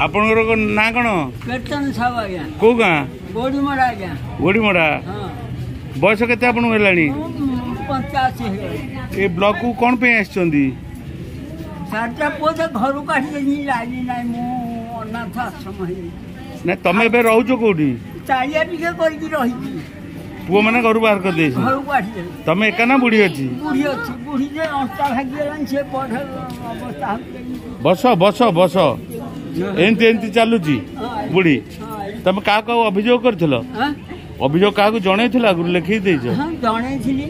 ଆପଣଙ୍କର ନାଁ କ'ଣ? କୀର୍ତ୍ତନ ସାହୁ ଆଜ୍ଞା। କୋଉ ଗାଁ? ଗୋଡ଼ିମଡ଼ା ଆଜ୍ଞା। ଗୋଡ଼ିମଡ଼ା। ହଁ। ବୟସ କେତେ ଆପଣଙ୍କୁ ହେଲାଣି? ମୁଁ 85 ହେଇଗଲାଣି। ଏ ବ୍ଲକକୁ କ'ଣ ପାଇଁ ଆସିଛନ୍ତି? ଚାରିଟା ପୁଅ ତ ଘରୁ କାଢ଼ିଦେଲି, ଲାଇନ ନାହିଁ, ମୁଁ ଅନାଥ ଆଶ୍ରମ ହେଇଯାଇଛି। ନା, ତମେ ଏବେ ରହୁଛ କୋଉଠି? ଚାଳିଆ ଟିକେ କରିକି ରହିଛି। ପୁଅମାନେ ଘରୁ ବାହାର କରିଦେଇଛନ୍ତି? ଘରୁ କାଢ଼ିଦେଲେ। ତମେ ଏକା ନା ବୁଢୀ ଅଛି? ବୁଢୀ ଅଛି। ବୁଢୀ ଯେ ଅଣ୍ଟା ଭାଙ୍ଗିଗଲାଣି, ସେ ବଢ ଅବସ୍ଥା ହଉଛି। ବସ ବସ ବସ। ଏମିତି ଏମିତି ଚାଲୁଛି ବୁଢୀ? ତମେ କାହାକୁ ଆଉ ଅଭିଯୋଗ କରିଥିଲ? ହଁ। ଅଭିଯୋଗ କାହାକୁ ଜଣେଇଥିଲ? ଆଗରୁ ଲେଖିକି ଦେଇଛ? ହଁ, ଜଣେଇଥିଲି।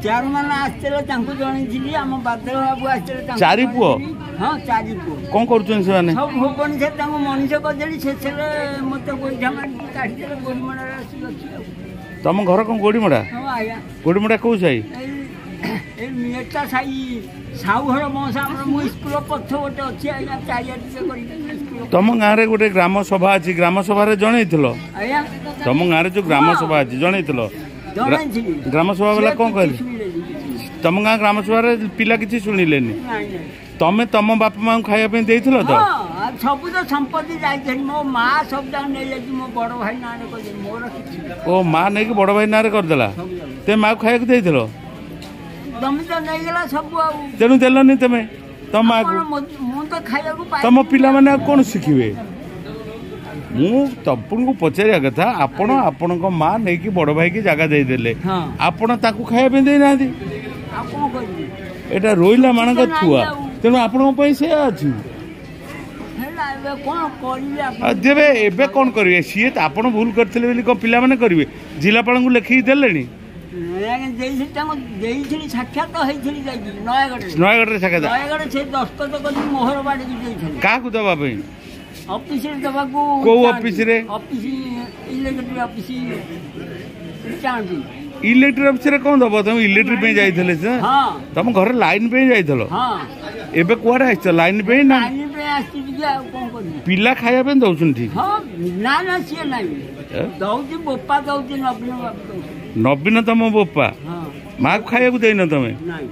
ଚେୟାରମ୍ୟାନ ଆସିଥିଲେ, ତାଙ୍କୁ ଜଣେଇଥିଲି। ଆମ ବାଦଲ ବାବୁ ଆସିଥିଲେ, ତାଙ୍କୁ ଚାରି ପୁଅ? ଜଣେଇଥିଲି। ହଁ, ଚାରି ପୁଅ। କ'ଣ କରୁଛନ୍ତି ସେମାନେ? ସବୁ ଭୁବନେଶ୍ୱର। ତାଙ୍କୁ ମଣିଷ କରିଦେଲି, ଶେଷରେ ମୋତେ ଗୋଇଠା ମାରିକି କାଢ଼ିଦେଲେ। ଗୋଡ଼ିମଡ଼ାରେ ଆସିକି ଅଛି ଆଉ। ତମ ଘର କ'ଣ ଗୋଡ଼ିମଡ଼ା? ହଁ ଆଜ୍ଞା। ଗୋଡ଼ିମଡ଼ା କୋଉ ସାହି? ଏଇ ମେଟା ସାହି, ସାହୁଘର ବଂଶ ଆମର। ମୁଁ ସ୍କୁଲ ପଛ ଗୋଟେ ଅଛି ଆଜ୍ଞା, ଚାରିଆ ଟିକେ କରିକି ସ୍କୁଲ। ତମ ଗାଁରେ ଗୋଟେ ଗ୍ରାମ ସଭା ଅଛି, ଗ୍ରାମ ସଭାରେ ଜଣେଇଥିଲ? ଆଜ୍ଞା? ତମ ଗାଁରେ ଯୋଉ ଗ୍ରାମ ସଭା ଅଛି, ଜଣେଇଥିଲ? ଜଣେଇଥିଲି। ଗ୍ରାମ ସଭା ବାଲା ସେ କ'ଣ କିଛି କହିଲେ? ଶୁଣିଲେନି କିଛି। ତମ ଗାଁ ଗ୍ରାମ ସଭାରେ ପିଲା କିଛି ଶୁଣିଲେନି? ନାଇଁ ନାଇଁ। ତମେ ତମ ବାପା ମାଙ୍କୁ ଖାଇବା ପାଇଁ ଦେଇଥିଲ ତ? ହଁ, ଆଉ ସବୁ ତ ସମ୍ପତ୍ତି ଯାଇଥିଲି। ମୋ ମା ସବୁ ଯାକ ନେଇଯାଇଛି, ମୋ ବଡ଼ ଭାଇ ନାଁରେ କହିଲେ, ମୋର କିଛି ନାହିଁ। ଓ, ମା ନେଇକି ବଡ଼ ଭାଇ ନାଁରେ କରିଦେଲା? ସବୁ ଯାକ। ତେମେ ମାକୁ ଖାଇବାକୁ ଦେଇଥିଲ? ତମେ ତ ନେଇଗଲା ସବୁ ଆଉ। ତେଣୁ ଦେଲନି ତମେ ତମ ମାକୁ? ଆପଣ ମୁଁ ତ ଖାଇବାକୁ ତମ ପାଇଲିନି। ପିଲାମାନେ ଆଉ କ'ଣ ଶିଖିବେ? ମୁଁ ତମକୁ ପଚାରିବା କଥା, ଆପଣ ଆପଣଙ୍କ ମା ନେଇକି ବଡ଼ ଭାଇକି ଜାଗା ଦେଇଦେଲେ, ହଁ, ଆପଣ ତାକୁ ଖାଇବା ପାଇଁ ଦେଇନାହାନ୍ତି। ଆଉ କ'ଣ କରିବି? ଏଇଟା ରୋଇଲା ମାନଙ୍କ କିଛି ତ ଥୁଆ। ନାହିଁ ଆଉ। ତେଣୁ ଆପଣଙ୍କ ପାଇଁ ସେୟା ଅଛି। ହେଲା, ଏବେ କ'ଣ କରିବି ଆପଣ? ଆଉ ଦେବେ, ଏବେ କ'ଣ କରିବେ? ସିଏ ତ ଆପଣ ଭୁଲ କରିଥିଲେ ବୋଲି କ'ଣ ପିଲାମାନେ କରିବେ? ଜିଲ୍ଲାପାଳଙ୍କୁ ଲେଖିକି ଦେଲେଣି? ଆଜ୍ଞା, ଦେଇଥିଲି, ତାଙ୍କୁ ଦେଇଥିଲି। ସାକ୍ଷାତ ହେଇଥିଲି ଯାଇକି ନୟାଗଡ଼ରେ। ନୟାଗଡ଼ରେ ସାକ୍ଷାତ? ନୟାଗଡ଼, ସେ ଦସ୍ତଖତ କରିକି ମୋହର ବାଡ଼ିକି ଦେଇଥିଲେ। କାହାକୁ ଦେବା ପାଇଁ? ଅଫିସରେ ଦେବାକୁ। କୋଉ ଅଫିସରେ? ଅଫିସ, ଇଲେକ୍ଟ୍ରିକ ଅଫିସ ଚାହାନ୍ତି। ଇଲେକ୍ଟ୍ରିକ ଅଫିସରେ କ'ଣ ଦବ? ତମେ ଇଲେକ୍ଟ୍ରିକ ପାଇଁ ଯାଇଥିଲେ ସେ? ହଁ। ତମ ଘରେ ଲାଇନ ପାଇଁ ଯାଇଥିଲ? ହଁ। ଏବେ କୁଆଡ଼େ ଆସିଛ, ଲାଇନ ପାଇଁ ନା? ଲାଇନ ପାଇଁ ଆସିଛି ଟିକେ, ଆଉ କ'ଣ କରିବି? ପିଲା ଖାଇବା ପାଇଁ ଦଉଛନ୍ତି ଠିକ? ହଁ, ନା ନା, ସିଏ ନାହିଁ। ଏ? ଦଉଛି ବୋପା, ଦଉଛି ନବୀନ ବାବୁ ଦଉଛି। ନବୀନ ତମ ବୋପା? ହଁ। ମାକୁ ଖାଇବାକୁ ଦେଇନ ତମେ? ନାଇଁ।